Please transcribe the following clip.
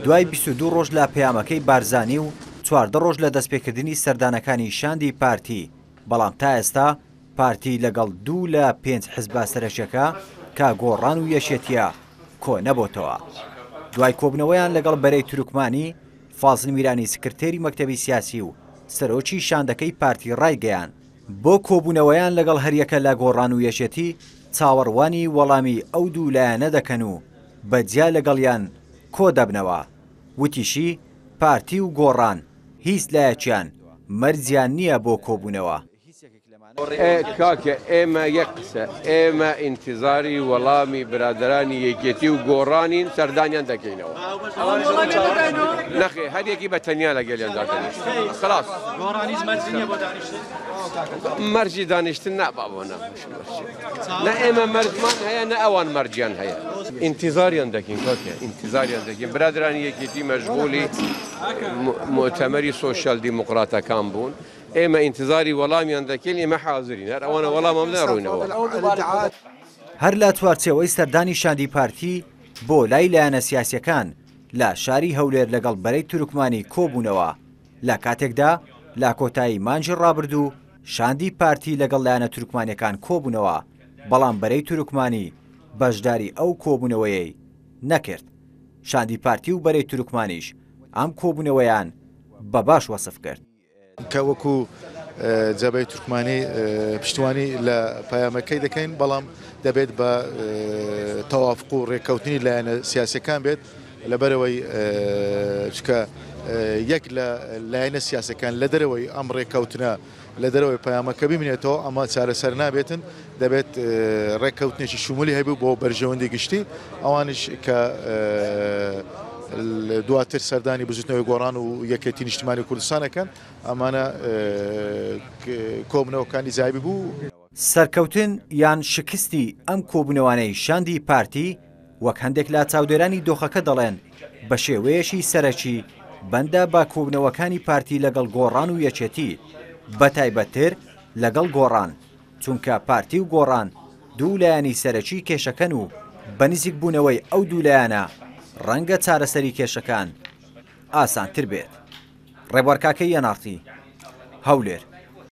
دوای 22 ڕۆژ لە پەیامەکەی بارزانی و 14 ڕۆژ لە دەستپێکردنی سەردانەکانی شاندی پارتی، بەڵام تا ئێستا پارتی لەگەڵ دوو لە پێنج حزبە سەرەکیەکە کە گۆڕان و یەکێتیە کۆ نەبۆتەوە. دوای کۆبنەوەیان لەگەڵ بەرەی تورکمانی، فازل میرانی سکرتێری مەکتەبی سیاسی و سەرۆکی شاندەکەی پارتی ڕایگەیاند، بۆ کۆبوونەوەیان لەگەڵ هەریەکە لە گۆڕان و یەکێتی چاوەڕوانی وەڵامی ئەو دوو لایەنە دەکەن و بە جیا لەگەڵیان کۆدەبنەوە. وتیشی، پارتی و گۆڕان هیچ لایەکیان مەرجیان نییە بۆ کۆبوونەوە. کاکە ئێمە یەک قسە ئێمە ئینتیزاری وەڵامی برادەرانی یەکێتی و گۆڕانین سەردانیان دەکەینەوە نەخێ هەر یەکی بە تەنیا لەگەلیان دادەنیشت خلاص مەرجی دانیشتن نا بابۆ نا نە ئێمە مەرجمان هەیە نە ئەوان مەرجیان هەیە ئینتیزاریان دەکەین کاکە ئینتیزاریان دەکەین برادرانی یەکێتی مەشغولی مؤتەمەری سۆشیال دیموکراتەکان بوون ئێمە ئینتزاری وەڵامیان دەکەین، ئێمە حازرین، هەر ئەوانە وەڵاممان بدەن ڕۆینەوە. هەر لە چوارچێوەی سەردانی شاندی پارتی بۆ لای لایەنە سیاسییەکان لە شاری هەولێر لەگەڵ بەرەی تورکمانی کۆبوونەوە، لە کاتێکدا لە کۆتایی مانگی ڕابردوو شاندی پارتی لەگەڵ لایەنە تورکمانییەکان کۆبوونەوە، بەڵام بەرەی تورکمانی بەشداری ئەو کۆبوونەوەیەی نەکرد. شاندی پارتی و بەرەی تورکمانیش ئەم کۆبوونەوەیان بە باش وەسف کرد. کە وەکو جەبهەی تورکمانی پشتیوانی لە پەیامەکەی دەکەین، بەڵام دەبێت بە تەوافق و رێککەوتنی لایەنە سیاسیەکان بێت، لەبەرئەوەی چونکە یەک لە لایەنە سیاسیەکان لە دەرەوەی ئەم رێککەوتنە لە دەرەوەی پەیامەکە بمینێتەوە ئەمە چارەسەر نابێتن، دەبێت ڕێککەوتنێکی شمولی هەبێت بۆ بەرژەوەندی گشتی، ئەوانیش کە دواتر سەردانی بزوتنەوەی گۆڕان و یەکێتی نیشتیمانی کوردستان ئەکەن، ئەمانە کۆبنەوەکانی جیابی بوو. سەرکەوتن یان شکستی ئەم کۆبوونەوانەی شاندی پارتی، وەک هەندێک لە چاودێرانی دۆخەکە دەڵێن، بەشێوەیەکی سەرەکی بەندە بە کۆبوونەوەکانی پارتی لەگەڵ گۆڕان و یەکێتی، بەتایبەتتر لەگەڵ گۆڕان، چونکە پارتی و گۆڕان دوو لایەنی سەرەکی کێشەکەن و بە نزیکبوونەوەی ئەو دوو لایەنە ڕەنگە چارەسەری کێشەکان ئاسانتر بێت. ڕێبوار کاکەیی، ئێن ئاڕ تی، هەولێر.